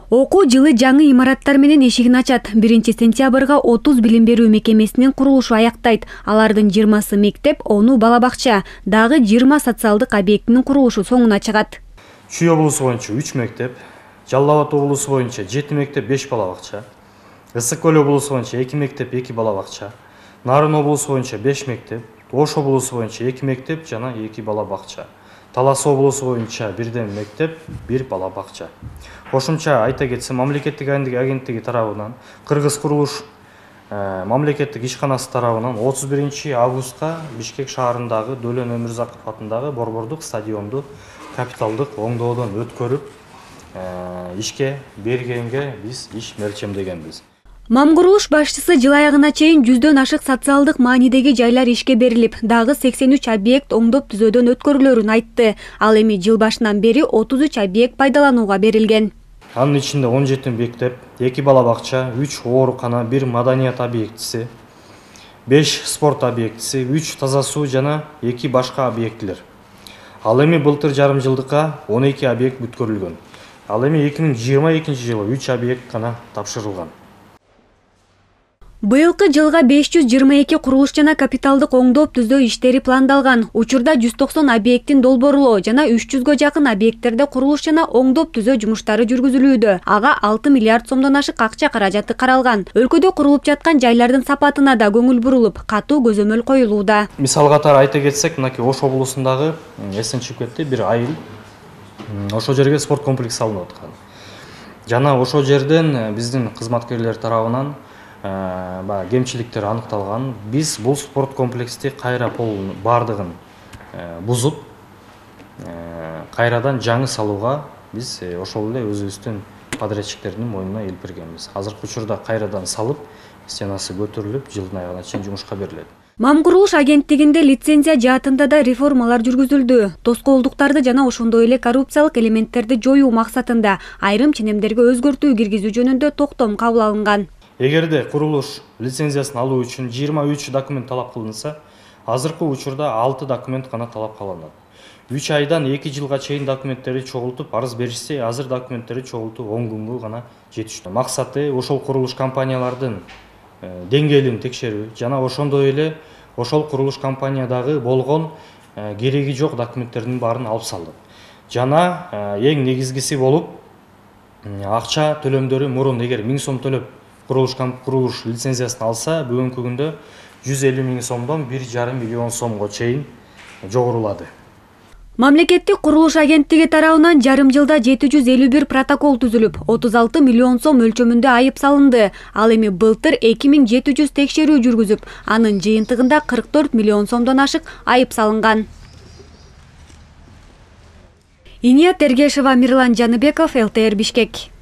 Окуу жылы жаңы имараттар менен эшигин ачат. 1-сентябрга 30 билим берүү мекемесинин курулушу аяктайт. Алардын 20сы мектеп, 10 бала бакча, дагы 20 социалдык объектинин курулушу соңуна чыгат. Чүй облусу боюнча 3 мектеп, Жалал Абад облусу боюнча 7 мектеп, 5 бала бакча, Ысык Көл облусу боюнча 2 мектеп, 2 бала бакча, Нарын облусу боюнча 5 мектеп, Ош облусу боюнча 2 мектеп жана 2 бала бакча, Талас облусу боюнча 1 мектеп, 1 бала бакча. Кошумча айта кетсем, мамлекеттик агенттиги тарабынан Кыргыз курулуш мамлекеттик ишканасы тарабынан 31 августка Бишкек шаарындагы Дөлөн Өмүрзаков атындагы борбордук стадионду капиталдык оңдоодон өткөрүп ишке бергенге биз иш мелчемдегенбиз. Мамкурулуш башчысы жыл аягына чейин 100дөн ашык социалдык маанидеги жайлар ишке берилип, дагы 83 объект оңдоп түзөөдөн өткөрүлөрүн айтты. Ал эми жыл башынан бери 33 объект пайдаланууга берилген. Анын ичинде 17 мектеп, 2 бала бакча, 3 оорукана, 1 маданият объектиси, 5 спорт объектиси, 3 таза суу жана 2 башка объектилер. Ал эми былтыр жарым жылдыкка 12 объект бүткөрүлгөн. Ал эми 2022 жылы 3 объект гана тапшырылган. Быйылкы жылга 522 курулуш жана капиталдык оңдоп түзөө иштери пландалган. Учурда 190 объекттин долбоорлоо жана 300гө жакын объекттерде курулуш жана оңдоп түзөө жумуштары жүргүзүлүүдө. Ага 6 миллиард сомдон ашык акча каражаты каралган. Өлкөдө курулуп жаткан жайлардын сапатына да көңүл бурулуп, катуу көзөмөл коюлууда. Мисал катары айта кетсек, мынакей Ош облусундагы эсен чыгып кетти, бир айыл ошол жерге спорт комплекси салынып аткан. Жана ошол жерден биздин кызматкерлер тарабынан кемчиликтер аныкталган. Биз бул спорт комплексти кайра бардыгын бузуп, кайрадан жаңы салууга биз ошол эле өзүбүздүн подрядчиктердин мойнуна илип бергенбиз. Азыркы учурда кайрадан салып, стенасы көтөрүлүп, жылдын аягына чейин жумушка берилет. Мамкурулуш агенттигинде лицензия жаатында да реформалар жүргүзүлдү. Тоскоолдуктарды жана ошондой эле коррупциялык элементтерди жоюу максатында айрым ченемдерге өзгөртүү киргизүү жөнүндө токтом кабыл алынган. Эгерде курулуш лицензиясын алуу үчүн 23 документ талап кылынса, азыркы учурда 6 документ гана талап кылынат. 3 айдан 2 жылга чейин документтерди чогултуп, арыз беришсе, азыр документтерди чогултуу 10 күнгө гана жетиштүү. Максаты ошол курулуш компаниялардын деңгээлин текшерүү жана ошондой эле ошол курулуш компаниядагы болгон кереги жок документтердин баарын алып салып. Жана эң негизгиси болуп, акча төлөмдөрү мурун эгер 1000 сом төлөп курулуш лицензиясын алса, бүгүнкү күндө 150 000 сомдон 1,5 миллион сомго чейин жогорулады. Мамлекеттик курулуш агенттиги тарабынан жарым жылда 751 протокол түзүлүп, 36 миллион сом өлчөмүндө айып салынды. Ал эми былтыр 2700 текшерүү жүргүзүп, анын жыйынтыгында 44 миллион сомдон ашык айып салынган. Иния Тергешева, Мирлан Жаныбеков, ЛТР Бишкек.